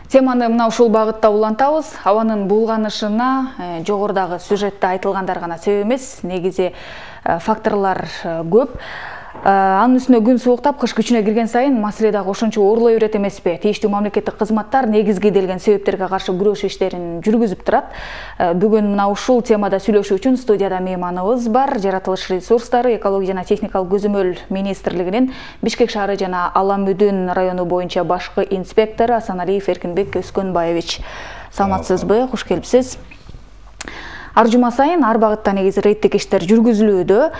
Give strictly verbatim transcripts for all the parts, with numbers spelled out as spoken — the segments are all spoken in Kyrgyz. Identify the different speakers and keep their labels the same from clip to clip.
Speaker 1: Теманы мына ушул багытта улантабыз. Абанын булганышына жогорудагы сюжетте айтылгандар гана себеп эмес, негизи факторлор көп. Анын үстүнө күн сууктап, кыш күчүнө кирген сайын маселе дагы ошончо оорлой берет эмеспи? Тийиштүү мамлекеттик кызматтар негизги делген себептерге каршы күрөш иштерин жүргүзүп турат. Бүгүн мына ушул темада сүйлөшүү үчүн студияда мейманыбыз бар. Жаратылыш ресурстары, экология жана техникалык көзөмөл министрлигинин Бишкек шаары жана Ала-Мүдүн району боюнча башкы инспектору Асаналиев Эркинбек Өскөнбаевич. Саламатсызбы? Куш келипсиз. Ар жума сайын ар багытта негизи рейдтик иштер жүргүзүлүүдө.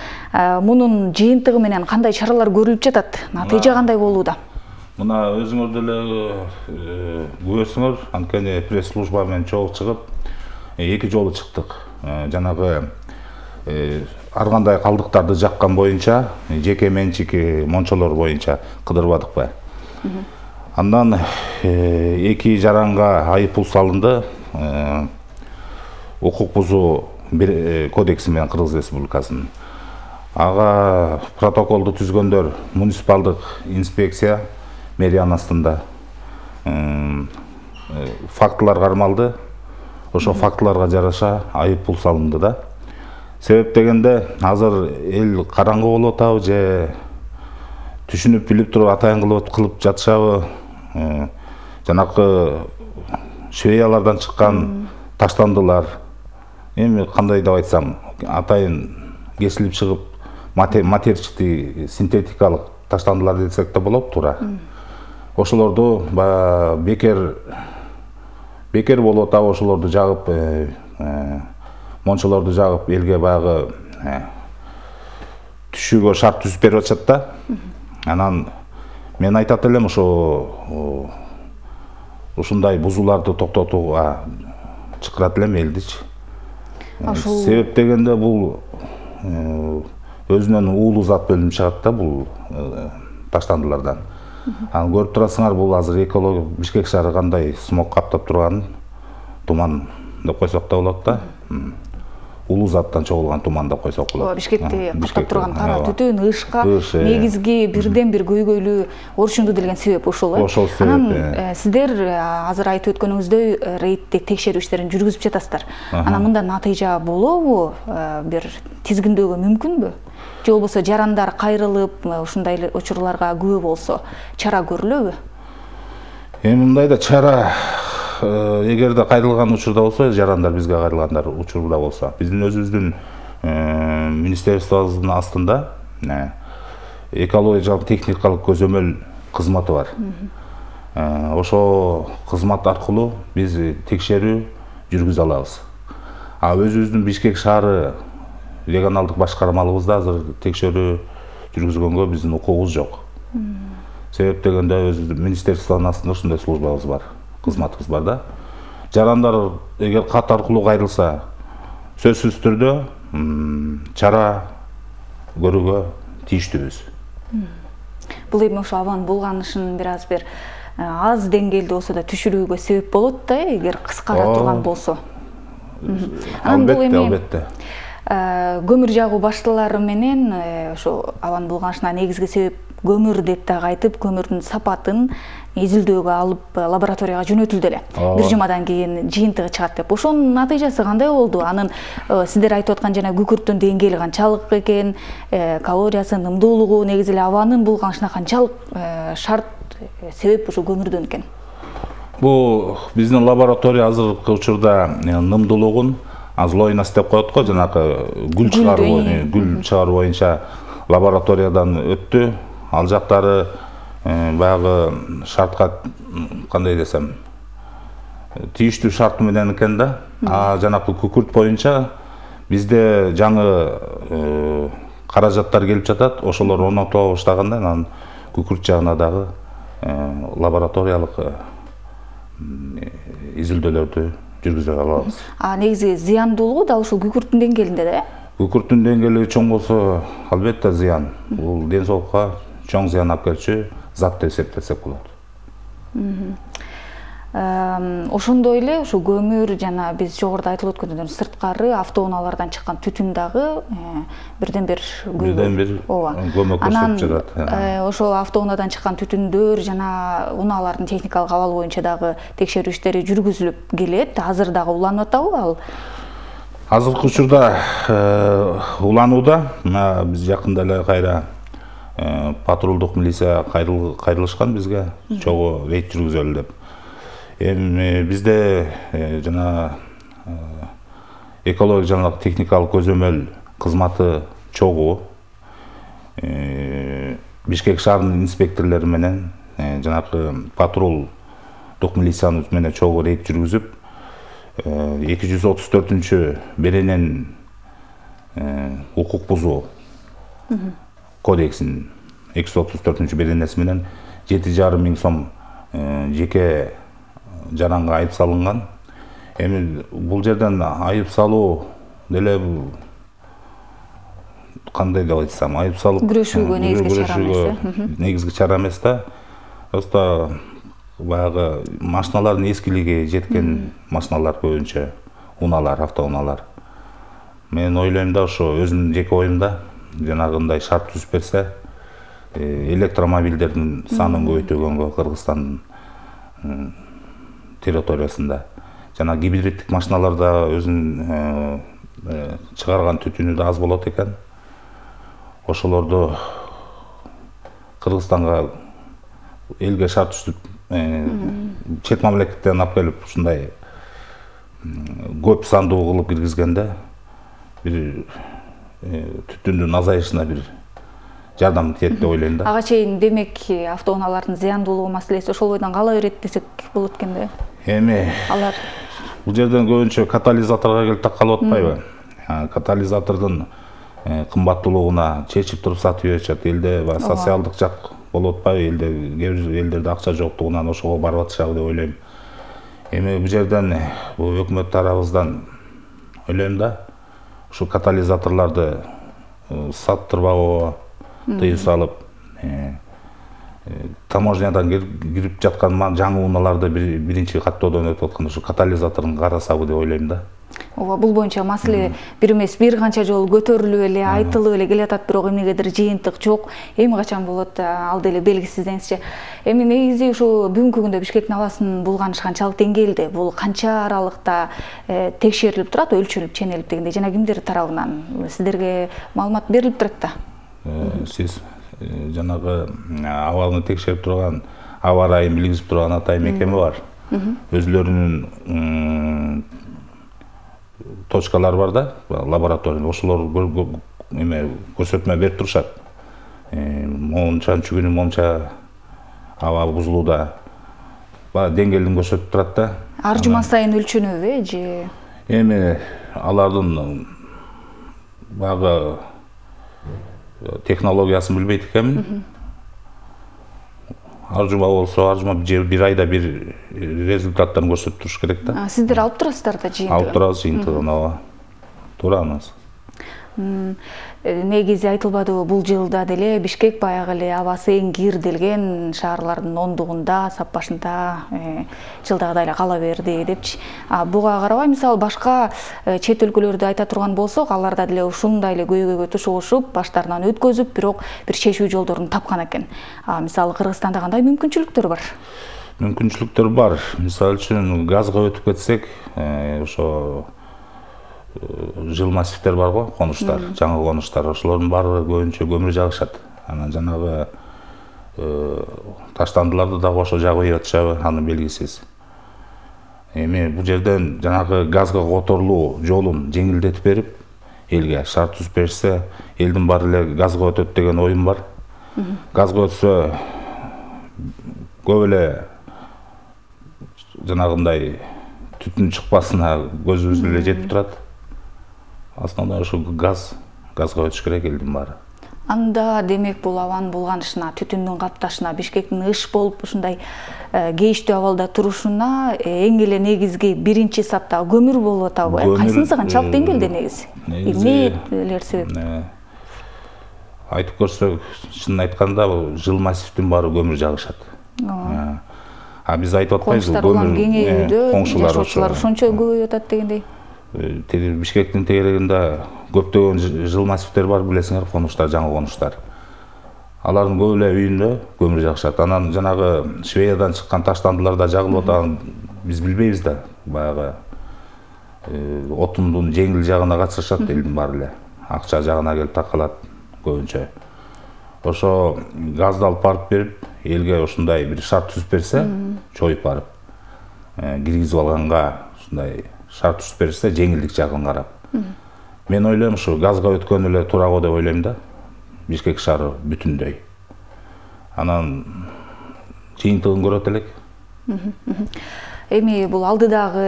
Speaker 1: Мунун жыйынтыгы менен кандай чаралар көрүлүп жатат? Натыйжа кандай болууда?
Speaker 2: Мына өзүңөр деле көрсөңөр, анткени пресс-служба менен чогуу чыгып, эки жолу чыктык. Жанагы ар кандай калдыктарды жаккан боюнча, жеке менчик мончолор боюнча кыдырбадыкпы. Андан эки жаранга айыппул салынды. Укук бузуу кодекси менен Кыргыз Республикасынын. Ага протоколду түзгөндөр муниципалдык инспекция мэрия астында фактылар кармалды. Ошо фактыларга жараша айыппул салынды да. Себеп дегенде азыр эл караңгы болуп атабы же түшүнүп билип туруп атайын кылып кылып жатышабы? Жанакы швеялардан чыккан таштандылар. Эми кандай деп айтсам, атайын кесилип чыгып матерчатый синтетикалык таштандылар десек да болот туура. Ошолорду бекер бекер болуп атабы, ошолорду жагып, мончолорду жагып элге баягы түшүүгө шарт түзүп берип атышат да. Анан мен айтат элем ошо ушундай бузууларды токтотууга чакырат элем элдичи. Себеп дегенде бул өзүнөн уулуу зат бөлүнүп чыгат да бул таштандылардан. Аны көрүп турасыңар, бул азыр экология Бишкек шаары кандай смог каптап турганын, туман деп койсок да болот да. Улуу заттан чогулган туман деп койсок болот.
Speaker 1: Бишкекти каптап турган кара түтүн, ышка негизги бирден бир көйгөйлүү орчунду делген себеп ушул э.
Speaker 2: Ошол себеп.
Speaker 1: Анан сиздер азыр айтып өткөнүңүздөй рейдтик текшерүү иштерин жүргүзүп жатасыздар. Анан мында натыйжа болобу? Бир тизгиндөөгө мүмкүнбү? Же болбосо жарандар кайрылып, ушундай эле учурларга күбө болсо, чара көрүлөбү?
Speaker 2: Эми мындай да чара, эгерде кайрылган учурда болсо, жарандар бизге кайрылгандар учурда болсо, биздин өзүбүздүн министерствобуздун астында экология жана техникалык көзөмөл кызматы бар. Ошо кызмат аркылуу биз текшерүү жүргүзө алабыз. А өзүбүздүн Бишкек шаары регионалдык башкармалыбызда азыр текшерүү жүргүзгөнгө биздин укугубуз жок. Себеп дегенде өзүбүздүн министерствонун астында ушундай службабыз бар, кызматыбыз бар да. Жарандар эгер кат аркылуу кайрылса, сөзсүз түрдө чара көрүүгө тийиштүүбүз.
Speaker 1: Бул эми ошо абанын булганышын бир аз бир аз деңгээлде болсо да түшүрүүгө себеп болот да, эгер кыскара турган болсо.
Speaker 2: Албетте, албетте.
Speaker 1: Көмүр жагуу башталары менен ошо абанын булганышына негизги себеп көмүр деп дагы айтып, көмүрдүн сапатын изилдөөгө алып лабораторияга жөнөтүлдү эле. Бир жумадан кийин жыйынтыгы чыгат деп. Ошонун натыйжасы кандай болду? Анын сиздер айтып аткан жана күкүрттүн деңгээли канчалык экен, калориясы, нымдуулугу, негизи эле абанын булганышына канчалык шарт себеп ушу көмүрдөн экен?
Speaker 2: Бул биздин лаборатория азыркы учурда нымдуулугун азлойнас деп коет го, жанагы гүл чыгаруу, гүл чыгаруу боюнча лабораториядан өттү. Ал жактары баягы шартка кандай десем, тийиштүү шарт менен экен да. А жанакы күкүрт боюнча бизде жаңы каражаттар келип жатат, ошолор орнотула баштаганда анан күкүрт жагына дагы лабораториялык изилдөөлөрдү жүргүзө алабыз.
Speaker 1: А негизи зыяндуулугу да ушул күкүрттүн деңгээлинде да?
Speaker 2: Күкүрттүн деңгээли чоң болсо, албетте зыян. Бул ден соолукка чоң зыян алып келчү зат деп эсептесек болот.
Speaker 1: Ошондой эле ушу көмүр жана биз жогоруда айтылып өткөндөй сырткары автоунаалардан чыккан түтүн дагы бирден бир
Speaker 2: бирден бир көмөк көрсөтүп жатат.
Speaker 1: Ошо автоунаадан чыккан түтүндөр жана унаалардын техникалык абалы боюнча дагы текшерүү иштери жүргүзүлүп келет. Азыр дагы уланып атабы ал?
Speaker 2: Азыркы учурда уланууда. Биз жакында эле кайра патрулдук милиция кайрылышкан бизге, чогуу рейд жүргүзөлү деп. Эми бизде жана экология жана техникалык көзөмөл кызматы чогуу. Бишкек шаарынын инспекторлору менен жанагы патрулдук милициянын менен чогуу рейд жүргүзүп, эки жүз отуз төртүнчү беренен укук бузуу кодексинин эки жүз отуз төртүнчү беренеси менен жети жарым миң сом жеке жаранга айып салынган. Эми бул жерден айып салуу деле кандай деп айтсам, айып салып
Speaker 1: күрөшүүгө негизги чара эмес.
Speaker 2: Негизги чара эмес да. Просто баягы машиналардын эскилиги жеткен машиналар көбүнчө, унаалар, автоунаалар. Мен ойлойм да, ошо өзүмдүн жеке оюмда жанагындай шарт түзүп берсе, электромобилдердин санын көбөйтүүгөнгө Кыргызстандын территориясында жана гибриддик машиналарда өзүнүн чыгарган түтүнү да аз болот экен. Ошолорду Кыргызстанга элге шарт түзүп, чет мамлекеттен алып келип ушундай көп сандуу кылып киргизгенде бир түтүндүн азайышына бир жардам тиет деп ойлойм да.
Speaker 1: Ага чейин демек автоунаалардын зыяндуулугу маселеси ошол бойдон кала берет десек болот экен да.
Speaker 2: Эми
Speaker 1: алар
Speaker 2: бул жерден көбүнчө катализаторго келип такалып атпайбы? Катализатордун кымбаттуулугуна чечип туруп сатып беришет. Элде социалдык жак болуп атпайбы? Элде кээ бир элдерде акча жоктугунан ошого барып атышабы деп ойлойм. Эми бул жерден бул өкмөт тарабыбыздан ойлойм да, ушу катализаторлорду саттырбагыга тыюу салып, таможнядан кирип жаткан жаңы унааларды биринчи каттоодон өтүп аткан ушу катализаторун карасабы деп ойлойм да.
Speaker 1: Ооба, бул боюнча маселе бир эмес бир канча жолу көтөрүлүп эле, айтылып эле келатат, бирок эмнегедир жыйынтык жок. Эми качан болот, ал деле белгисиз деңизчи. Эми негизи ушу бүгүнкү күндө Бишкектин абасын булганыш канчалык деңгээлде, бул канча аралыкта текшерилип турат, өлчөлүп, ченелип дегендей, жана кимдер тарабынан сиздерге маалымат берилип турат да?
Speaker 2: Сиз жанагы абалыны текшерип турган, аба ырайын билгизип турган Атай мекеме бар. Өзүлөрүнүн точкалары бар да, лаборатория. Ошолор эме көрсөтмө берип турушат. Мончанчы күнү монча аба бузулууда. Баа деңгээлин көрсөтүп турат да.
Speaker 1: Ар жума сайын өлчөнөбү же?
Speaker 2: Эми алардын баягы технологиясын билбейт экенмин. Ар жума болсо, ар жума бир айда бир результаттарын көрсөтүп туруш керек да.
Speaker 1: Сиздер алып турасыздар да жыйынтыгын?
Speaker 2: Алып турабыз жыйынтыгын, ооба. Турабыз.
Speaker 1: Негизи айтылбадыбы, бул жылда деле Бишкек баягы эле абасы эң кирделген шаарлардын ондугунда, сап башында жылдагыдай эле кала берди депчи. Буга карабай, мисалы башка чет өлкөлөрдү айта турган болсок, аларда деле ушундай эле көйгөйгө тушугушуп, баштарынан өткөзүп, бирок бир чечүү жолдорун тапкан экен. Мисалы Кыргызстанда кандай мүмкүнчүлүктөр бар?
Speaker 2: Мүмкүнчүлүктөр бар. Мисалы үчүн газга өтүп кетсек, ошо жыл массивдер бар го, конуштар, жаңы конуштар, ошолордун баары көбүнчө көмүр жагышат. Анан жанагы таштандыларды дагы ошо жагып атышабы, аны белгисиз. Эми бул жерден жанагы газга которулуу жолун жеңилдетип берип, элге шарт түзүп беришсе, элдин баары эле газга өтөт деген оюм бар. Газга өтсө көп эле жанагындай түтүн чыкпасына көзүбүз эле жетип турат. Основной ошо газ, газга өтүш керек элдин баары.
Speaker 1: Анда демек бул абанын булганышына, түтүндүн капташына, Бишкектин ыш болуп ушундай кейиштүү абалда турушуна эң эле негизги биринчи сапта көмүр болуп атабы? Кайсынысы канчалык деңгээлде негизи? Эмнелер себеп?
Speaker 2: Айтып көрсөк, чынын айтканда, жыл массивдин баары көмүр жагышат. А биз айтып атпайбызбы,
Speaker 1: көмүр кеңеүүдө
Speaker 2: жашоочулар
Speaker 1: ошончо көбөйүп атат дегендей.
Speaker 2: Бишкектин тегерегинде көптөгөн жыл массивтер бар, билесиңер, конуштар, жаңы конуштар. Алардын көп эле үйүндө көмүр жакшат. Анан жанагы Швециядан чыккан таштандыларда жагылып атат, биз билбейбиз да. Баягы отундун жеңил жагына катышышат элдин баары эле. Акча жагына келип такалат көбүнчө. Ошо газды алып барып берип, элге ушундай бир шарт түзүп берсе, чоюп барып, киргизип алганга ушундай шарт түзүп берсе, жеңилдик жагын карап. Мен ойлойм, ушу газга өткөн эле туура го деп ойлойм да. Бишкек шаары бүтүндөй. Анан жыйынтыгын көрөт элек.
Speaker 1: Эми бул алдыдагы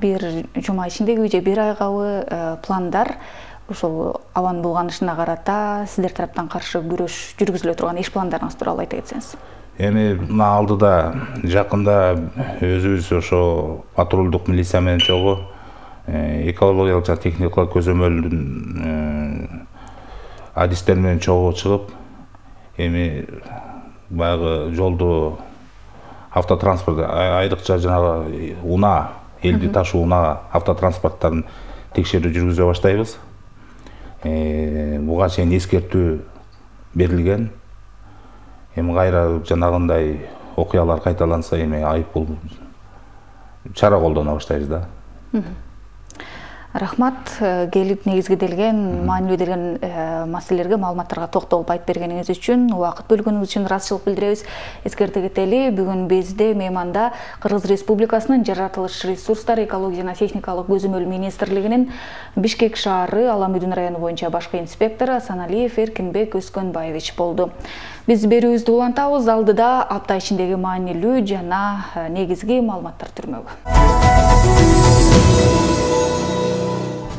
Speaker 1: бир жума ичиндеги же бир айгабы пландар ошол абанын булганышына карата сиздер тараптан каршы күрөш жүргүзүлө турган иш пландарыңыз тууралуу айта кетсеңиз.
Speaker 2: Эми мына алдыда жакында өзүбүз ошо патрулдук милиция менен чогуу экологиялык жана техникалык көзөмөлдүн адистер менен чогуу чыгып, эми баягы жолду автотранспорт, айрыкча жанагы унаа, элди ташуу унаа автотранспорттарын текшерүү жүргүзө баштайбыз. Буга чейин эскертүү берилген. Эми кайра жанагындай окуялар кайталанса, эми айыппул чара колдоно баштайбыз да.
Speaker 1: Рахмат, келип негизгиделген, маанилүү делген маселелерге, маалыматтарга токтолуп айтып бергениңиз үчүн, убакыт бөлгөнүңүз үчүн ыраазычылык билдиребиз. Эскерте кетели, бүгүн бизде мейманда Кыргыз Республикасынын жаратылыш ресурстары, экология жана техникалык көзөмөл министрлигинин Бишкек шаары Ала Мөдүн району боюнча башкы инспектору Асаналиев Эркинбек Өскөнбаевич болду. Биз берүүбүздү улантабыз, алдыда апта ичиндеги маанилүү жана негизги маалыматтар түрмөгү.